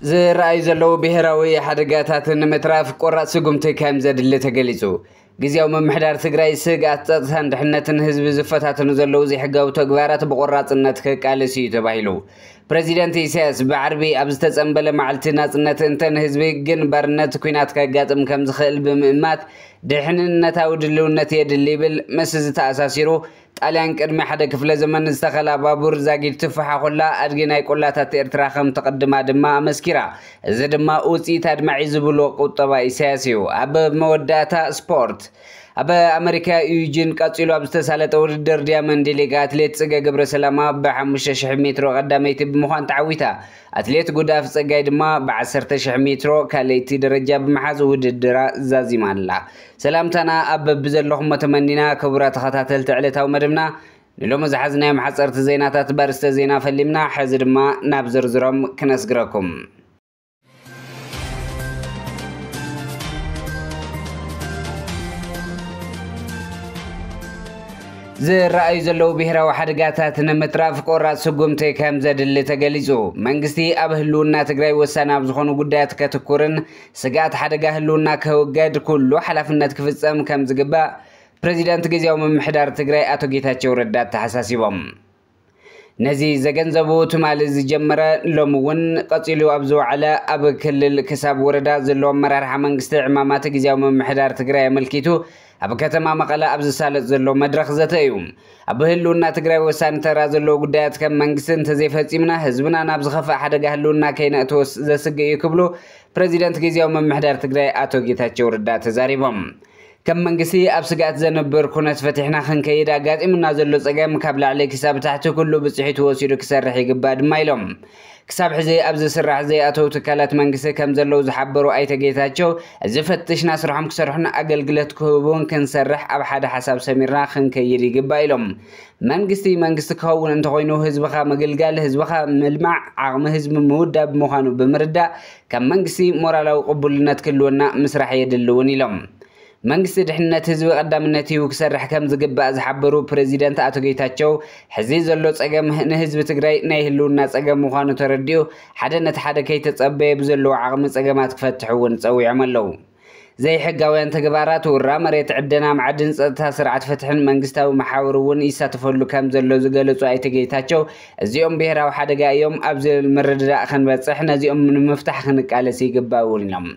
ዝረኣዩ ዘለዉ ብሔራዊ ሓደጋታት ንምትራፍ ቆራፅ ስጉምቲ ከም ዘድሊ ተገሊፁ። ግዜያዊ ምምሕዳር ትግራይ ስግኣት ፀጥታን ድሕነትን ህዝቢ ዝፈታተኑ ዘለዉ ዘይሕጋዊ ተግባራት ብቆራፅነት ክቃለስ እዩ ተባሂሉ። ፕረዚደንት ኢሳያስ ብዓርቢ ኣብ ዝተፀንበለ መዓልቲ ናፅነት እንተ ንህዝቢ ግን ባርነት ኲናት ከጋጥም ከም ዝኽእል ብምእማት ድሕንነታዊ ድልውነት የድሊ ይብል። ምስ ዝተኣሳሲሩ ጣልያን ቅድሚ ሓደ ክፍለ ዘመን ዝተኸላ ባቡር ዛጊድ ትፍሓ ኮላ ኣድጊ ናይ ቆላታት ኤርትራ ከም ትቕድማ ድማ ኣመስኪራ። እዚ ድማ ውፅኢት ኣድማዒ ዝብሎ ቁጠባ ኢሳያስ እዩ። ኣብ መወዳእታ ስፖርት። ኣብ ኣመሪካ ዩጂን ቀፂሉ ኣብ ዝተሳለጠ ውድድር ዲያመንድ ሊግ ኣትሌት ፅገ ገብረ ሰላማ ብ5,000 ሜትሮ ቀዳመይቲ ብምዃን ተዓዊታ። ኣትሌት ጉዳፍ ፀጋይ ድማ ብ10,000 ሜትሮ ካልኣይቲ ደረጃ ብምሓዝ ውድድራ ዛዚማ ኣላ። ሰላምታና ኣብ በብዘለኹሞ ተመኒና። ክቡራት ተኸታተልቲ ዕለታዊ መደብና፣ ንሎሚ ዝሓዝናዮም ሓፀርቲ ዜናታት በርስተ ዜና ፈሊምና። ሕዚ ድማ ናብ ዝርዝሮም ክነስግረኩም። ዝረኣዩ ዘለዉ ብሄራዊ ሓደጋታት ንምትራፍ ቆራፅ ስጉምቲ ከም ዘድሊ ተገሊፁ። መንግስቲ ኣብ ህልውና ትግራይ ወሳኒ ኣብ ዝኾኑ ጉዳያት ከትኩርን ስግኣት ሓደጋ ህልውና ከውገድ ኩሉ ሓላፍነት ክፍፀም ከም ዝግባእ ፕሬዚዳንት ግዜያዊ ምምሕዳር ትግራይ ኣቶ ጌታቸው ረዳ ኣተሓሳሲቦም። ነዚ ዘገንዘቡ ትማሊ ዝጀመረ ሎሚ እውን ቀፂሉ ኣብ ዝወዓለ ኣብ ክልል ክሳብ ወረዳ ዘሎ ኣመራርሓ መንግስቲ ዕማማት ግዜያዊ ምምሕዳር ትግራይ ኣመልኪቱ ኣብ ከተማ መቐለ ኣብ ዝሳለጥ ዘሎ መድረኽ ዘተ እዩ። ኣብ ህልውና ትግራይ ወሳኒ ተራ ዘለዎ ጉዳያት ከም መንግስቲ እንተዘይፈፂምና ህዝብና ናብ ዝኸፍእ ሓደጋ ህልውና ከይነእትዎ ዘስግእ እዩ ክብሉ ፕረዚደንት ግዜያዊ ምምሕዳር ትግራይ ኣቶ ጌታቸው ረዳ ተዛሪቦም። ከም መንግስቲ ኣብ ስግኣት ዘንብር ኩነት ፈቲሕና ክንከይድ ኣጋጢሙና ዘሎ ጸገም ካብ ላዕሊ ክሳብ ታሕቲ ኩሉ ብጽሒት ወሲዱ ክሰርሕ ይግባእ ድማ ኢሎም። ክሳብ ሕዚ ኣብ ዝስራሕ ዘይኣተው ትካላት መንግስቲ ከም ዘለዉ ዝሓበሩ ኣይተ ጌታቸው፣ እዚ ፈትሽና ስርሖም ክሰርሑን ኣገልግሎት ክህቡን ክንሰርሕ ኣብ ሓደ ሓሳብ ሰሚርና ክንከይድ ይግባእ ኢሎም። መንግስቲ መንግስቲ ክኸውን እንተኾይኑ ህዝብኻ ምግልጋል፣ ህዝብኻ ምልማዕ፣ ዓቕሚ ህዝቢ ምውዳብ ምዃኑ ብምርዳእ ከም መንግስቲ ሞራላዊ ቅቡልነት ክህልወና ምስራሕ የድሊ እውን ኢሎም። መንግስቲ ድሕነት ህዝቢ ቀዳምነት ሂቡ ክሰርሕ ከም ዝግባእ ዝሓበሩ ፕረዚደንት ኣቶ ጌታቸው፣ ሕዚ ዘሎ ጸገም ንህዝቢ ትግራይ ናይ ህልውና ጸገም ምዃኑ ተረዲኡ ሓደ ነቲ ሓደ ከይተጸበየ ብዘለዎ ዓቕሚ ጸገማት ክፈትሕ እውን ጸዊዖም ኣለዉ። ዘይሕጋውያን ተግባራት ውራ መሬት፣ ዕደና ማዕድን፣ ጸጥታ ስርዓት ፍትሕን መንግስታዊ መሓውር እውን ይሳተፈሉ ከም ዘሎ ዝገለጹ ኣይተ ጌታቸው፣ እዚኦም ብሄራዊ ሓደጋ እዮም፣ ኣብዚ ምርድዳእ ክንበጽሕ ነዚኦም ንምፍታሕ ክንቃለስ ይግባእ እውን ኢሎም።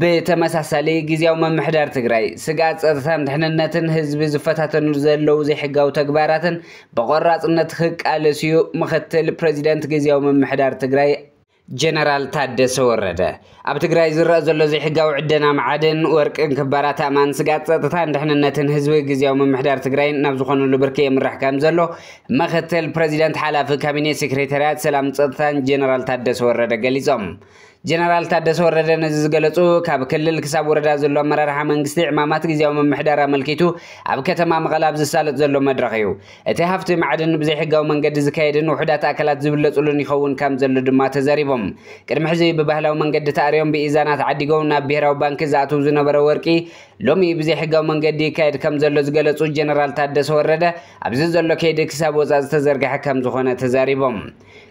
ብተመሳሳሊ ግዜያዊ ምምሕዳር ትግራይ ስግኣት ጸጥታን ድሕንነትን ህዝቢ ዝፈታተኑ ዘለዉ ዘይሕጋዊ ተግባራትን ብቆራፅነት ክቃለስ እዩ ምክትል ፕረዚደንት ግዜያዊ ምምሕዳር ትግራይ ጀነራል ታደሰ ወረደ። ኣብ ትግራይ ዝረአ ዘሎ ዘይሕጋዊ ዕደና መዓድን ወርቅን ክባራት ኣእማን ስግኣት ጸጥታን ድሕንነትን ህዝቢ ግዜያዊ ምምሕዳር ትግራይ ናብ ዝኾነሉ ብርኪ የምራሕ ከም ዘሎ ምክትል ፕረዚደንት ሓላፊ ካቢኔ ሴክሬታርያት ሰላም ጸጥታን ጀነራል ታደሰ ወረደ ገሊጾም። ጀነራል ታደሰ ወረደ ነዚ ዝገለጹ ካብ ክልል ክሳብ ወረዳ ዘሎ ኣመራርሓ መንግስቲ ዕማማት ግዜያዊ ምምሕዳር ኣመልኪቱ ኣብ ከተማ መቐለ ኣብ ዝሳለጥ ዘሎ መድረኽ እዩ። እቲ ሃፍቲ ማዕድን ብዘይሕጋዊ መንገዲ ዝካየድን ውሑዳት ኣካላት ዝብለጹሉን ይኸውን ከም ዘሎ ድማ ተዛሪቦም። ቅድሚ ሕዚ ብባህላዊ መንገዲ ተኣርዮም ብኢዛና ተዓዲጎም ናብ ብሄራዊ ባንኪ ዝኣትው ዝነበረ ወርቂ ሎሚ ብዘይሕጋዊ መንገዲ ይካየድ ከም ዘሎ ዝገለጹ ጀነራል ታደሰ ወረደ፣ ኣብዚ ዘሎ ከይዲ ክሳብ ወጻኢ ዝተዘርግሐ ከም ዝኾነ ተዛሪቦም።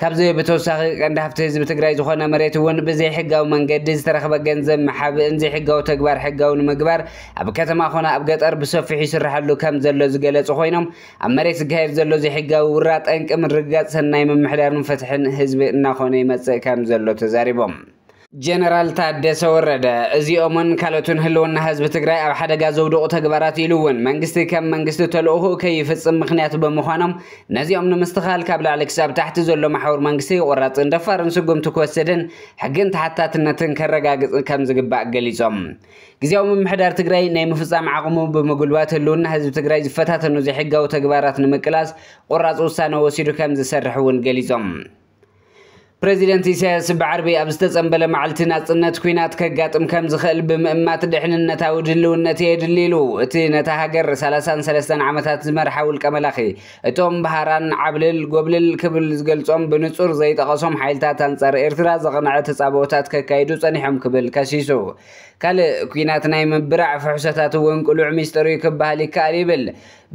ካብዚ ብተወሳኺ ቀንዲ ሃፍቲ ህዝቢ ትግራይ ዝኾነ መሬት እውን ብዘይሕጋዊ መንገዲ ዝተረኽበ ገንዘብ ምሓብእን ዘይሕጋዊ ተግባር ሕጋዊ ንምግባር ኣብ ከተማ ኾነ ኣብ ገጠር ብሰፊሑ ይስራሓሉ ከም ዘሎ ዝገለጹ ኮይኖም፣ ኣብ መሬት ዝካየድ ዘሎ ዘይሕጋዊ ውራ ጠንቂ ምርግጋጽ ሰናይ ምምሕዳርን ፍትሕን ህዝቢ እናኾነ ይመጽእ ከም ዘሎ ተዛሪቦም። ጀነራል ታደሰ ወረደ እዚኦምን ካልኦትን ህልውና ህዝቢ ትግራይ ኣብ ሓደጋ ዘውድቑ ተግባራት ኢሉ እውን መንግስቲ ከም መንግስቲ ተልእኾኡ ከይፍጽም ምኽንያት ብምዃኖም ነዚኦም ንምስትኻል ካብ ላዕሊ ክሳብ ታሕቲ ዘሎ መሓውር መንግስቲ ቆራፅን ደፋርን ስጉምቲ ክወስድን ሕግን ተሓታትነትን ከረጋግጽ ከም ዝግባእ ገሊጾም። ግዜያዊ ምምሕዳር ትግራይ ናይ ምፍጻም ዓቕሙ ብምጉልባት ህልውና ህዝቢ ትግራይ ዝፈታተኑ ዘይሕጋዊ ተግባራት ንምቅላስ ቆራፅ ውሳነ ወሲዱ ከም ዝሰርሕ እውን ገሊጾም። ፕረዚደንት ኢሳያስ ብዓርቢ ኣብ ዝተጸንበለ መዓልቲ ናጽነት ኲናት ከጋጥም ከም ዝኽእል ብምእማት ድሕንነታዊ ድልውነት የድሊ ኢሉ። እቲ ነታ ሃገር ሰላሳን ሰለስተን ዓመታት ዝመርሓ ውልቀ መላኺ፣ እቶም ብሃራን ዓብልል ጎብልል ክብል ዝገልጾም ብንጹር ዘይጠቐሶም ሓይልታት ኣንጻር ኤርትራ ዘቕንዐ ተጻብኦታት ከካይዱ ጸኒሖም ክብል ከሲሱ። ካልእ ኲናት ናይ ምብራዕ ፍሕሶታት እውን ቅሉዕ ሚስጥር እዩ ክበሃል ይከኣል ይብል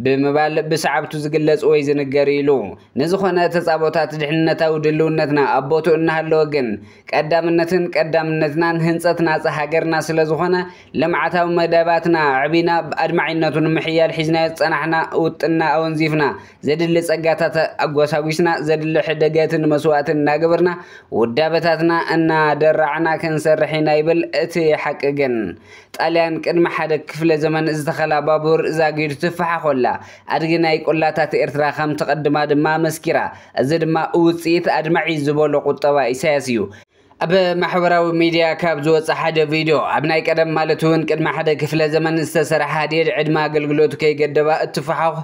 ብምባል ብሰዓብቱ ዝግለጽ ወይ ዝንገር ኢሉ። ንዝኾነ ተጻብኦታት ድሕንነታዊ ድልውነትና ኣብ እናሃለወ ግን ቀዳምነትን ቀዳምነትናን ህንፀት ናፃ ሃገርና ስለ ዝኾነ ልምዓታዊ መደባትና ኣዕቢና ኣድማዒነቱ ንምሕያል ሒዝናዮ ዝፀናሕና ውጥና ኣወንዚፍና ዘድሊ ፀጋታት ኣጎሳጒስና ዘድሊ ሕደገትን መስዋእትን እናገበርና ውዳበታትና እናደራዕና ክንሰርሕ ኢና ይብል እቲ ሓቂ ግን ጣልያን ቅድሚ ሓደ ክፍለ ዘመን ዝተኸላ ባቡር ዛጊዱ ትፈሓኾላ ኣድጊ ናይ ቆላታት ኤርትራ ከም ትቐድማ ድማ መስኪራ። እዚ ድማ ውፅኢት ኣድማዒ ዝበሎ ቁጠባ ኢሳያስ እዩ። ኣብ ማሕበራዊ ሚድያ ካብ ዝወፀ ሓደ ቪድዮ ኣብ ናይ ቀደም ማለት እውን ቅድሚ ሓደ ክፍለ ዘመን ዝተሰርሐ ሃዲድ ዕድመ ኣገልግሎቱ ከይገደባ እትፈሓኹ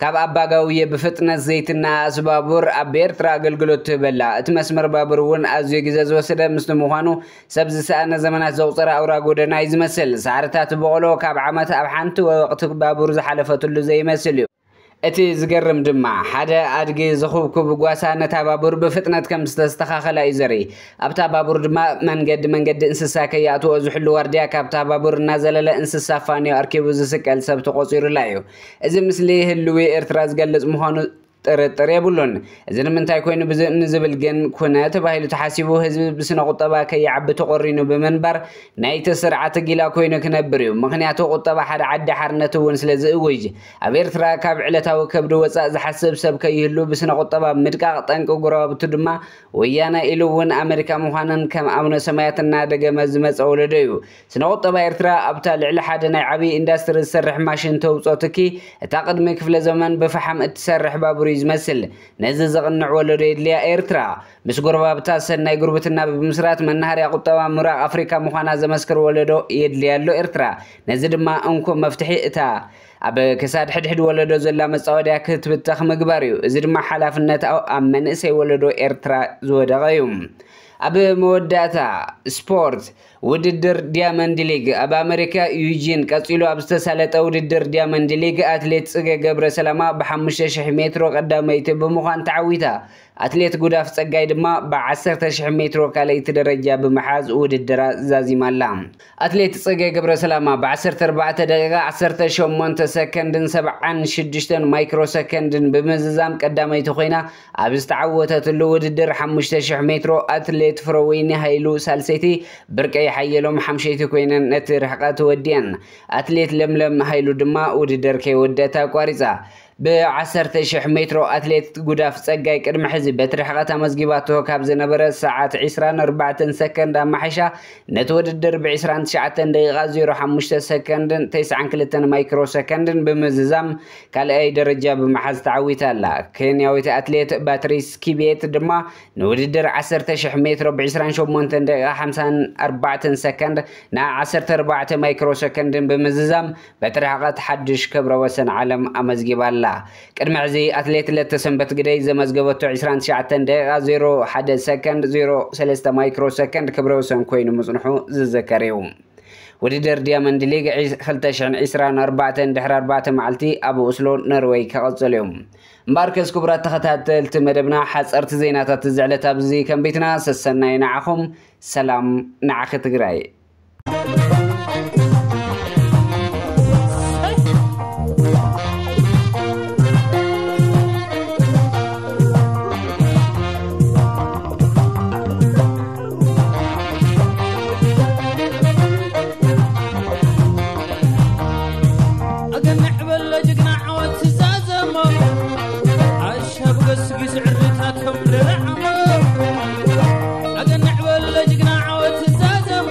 ካብ ኣባጋውየ ብፍጥነት ዘይትነኣስ ባቡር ኣብ ኤርትራ ኣገልግሎት ትህበላ። እቲ መስመር ባቡር እውን ኣዝዮ ግዜ ዝወሰደ ምስቲ ምዃኑ ሰብ ዝሰኣነ ዘመናት ዘቑፀረ ኣውራ ጎደና እዩ ዝመስል። ሳዕርታት በቆሎ ካብ ዓመት ኣብ ሓንቲ ወቕቲ ባቡር ዝሓለፈትሉ ዘይመስል እዩ። እቲ ዝገርም ድማ ሓደ ኣድጊ ዝኹብኩብ ጓሳ ነታ ባቡር ብፍጥነት ከም ዝተስተኻኸላ እዩ ዘርኢ። ኣብታ ባቡር ድማ መንገዲ መንገዲ እንስሳ ከይኣትዎ ዝሕሉ ዋርድያ ካብታ ባቡር እናዘለለ እንስሳ ፋንዮ ኣርኪቡ ዝስቀል ሰብ ተቖፂሩላ እዩ። እዚ ምስሊ ህልዊ ኤርትራ ዝገልጽ ምዃኑ ጥርጥር የብሉን። እዚ ንምንታይ ኮይኑ ብዝ- ንዝብል ግን ኩነ ተባሂሉ ተሓሲቡ ህዝቢ ብስነ ቁጠባ ከይዓቢ ተቆሪኑ ብምንባር ናይቲ ስርዓት ጊላ ኮይኑ ክነብር እዩ። ምክንያቱ ቁጠባ ሓደ ዓዲ ሓርነት እውን ስለ ዝእውጅ ኣብ ኤርትራ ካብ ዕለታዊ ከብዲ ወፃእ ዝሓስብ ሰብ ከይህሉ ብስነ ቁጠባ ምድቃቕ ጠንቂ ጎረባብቱ ድማ ወያነ ኢሉ እውን ኣመሪካ ምዃነን ከም ኣቡነ ሰማያት እናደገመ ዝመፀ ወለዶ እዩ። ስነ ቁጠባ ኤርትራ ኣብታ ልዕሊ ሓደ ናይ ዓብዪ ኢንዳስትሪ ዝሰርሕ ማሽን ተውፅኦ ትኪ እታ ቅድሚ ክፍለ ዘመን ብፈሓም እትሰርሕ ባቡር እዩ ዝመስል። ነዚ ዘቕንዕ ወለዶ የድልያ ኤርትራ። ምስ ጎረባብታ ሰናይ ጉርብትና ብምስራት መናሃርያ ቁጠባ ምብራቕ ኣፍሪካ ምዃና ዘመስክር ወለዶ የድልያ ኣሎ ኤርትራ። ነዚ ድማ እንኮ መፍትሒ እታ ኣብ ክሳድ ሕድሕድ ወለዶ ዘላ መጻወድያ ክትብተኽ ምግባር እዩ። እዚ ድማ ሓላፍነት ኣብ ኣብ መንእሰይ ወለዶ ኤርትራ ዝወደቐ እዩ። ኣብ መወዳእታ ስፖርት ውድድር ዲያመንድ ሊግ ኣብ ኣመሪካ ዩጂን ቀጺሉ ኣብ ዝተሳለጠ ውድድር ዲያመንድ ሊግ ኣትሌት ጽገ ገብረ ሰላማ ብ5,000 ሜትሮ ቀዳመይቲ ብምዃን ተዓዊታ። ኣትሌት ጉዳፍ ጸጋይ ድማ ብ10,000 ሜትሮ ካልኣይቲ ደረጃ ብምሓዝ ውድድራ ዛዚማ ኣላ። ኣትሌት ጽገ ገብረ ሰላማ ብ14 ደቂቃ 18 ሰከንድን 76 ማይክሮ ሰከንድን ብምዝዛም ቀዳመይቲ ኮይና ኣብ ዝተዓወተትሉ ውድድር 5,000 ሜትሮ ኣትሌት ፍረወይኒ ሃይሉ ሳልሰይቲ፣ ብርቀይ ሓየሎም ሓምሸይቲ ኮይነን ነቲ ርሕቀት ወዲአን። ኣትሌት ለምለም ሃይሉ ድማ ውድድር ከይወደት ኣቋሪጻ። ብ10,000 ሜትሮ ኣትሌት ጉዳፍ ጸጋይ ቅድሚ ሕዚ በቲ ርሕቀት ኣመዝጊባቶ ካብ ዝነበረ ሰዓት 24 ሰከንድ ኣማሒሻ ነቲ ውድድር ብ29 ደቂቃ 05 ሰከንድን 92 ማይክሮ ሰከንድን ብምዝዛም ካልኣይ ደረጃ ብምሓዝ ተዓዊታ ኣላ። ኬንያዊት ኣትሌት ባትሪስ ኪቤት ድማ ንውድድር 10,000 ሜትሮ ብ28 ደቂቃ 54 ሰከንድ ን14 ማይክሮ ሰከንድን ብምዝዛም በቲ ርሕቐት ሓድሽ ክብረ ወሰን ዓለም ኣመዝጊባ ኣላ። ቅድሚ ሕዚ ኣትሌት ለተሰንበት ግደይ ዘመዝገበቶ 29 ደቂቃ 01 ሰከንድ 03 ማይክሮ ሰከንድ ክብረ ወሰን ኮይኑ ምጽንሑ ዝዝከር እዩ። ውድድር ዲያመንድ ሊግ 2024 ድሕሪ ኣርባዕተ መዓልቲ ኣብ ኦስሎ ኖርወይ ክቕጽል እዩ። እምበኣርከስ ክቡራት ተኸታተልቲ መደብና ሓፀርቲ ዜናታት እዚ ዕለት ኣብዚ ከንቢትና ሰሰናይ ንዓኹም። ሰላም ንዓኺ ትግራይ። ኣገንዕ በሎ ጅግና ዓወት ትዛዘሞ ኣሻብ ገስጊስ ዕርድታቶም ልርዓሞ ኣገንዕ በሎ ጅግና ዓወት ትዛዘሞ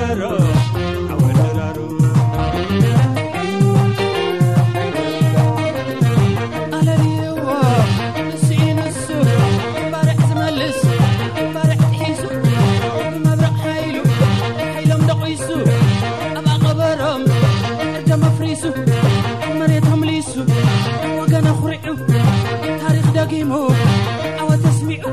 ኣወደራሩ ኣለልዎ ንስኡ ንሱ ባርዕ ዝመልስ ባርዕ ጥሒሱ ብመብረቕ ሓይሉ ሓይሎም ደቒሱ ኣብ ኣቐበሮም እርዶም ኣፍሪሱ መሬቶም ሊሱ ወገን ኣኹሪዑ ታሪኽ ደጊሙ ዓወት ኣስሚዑ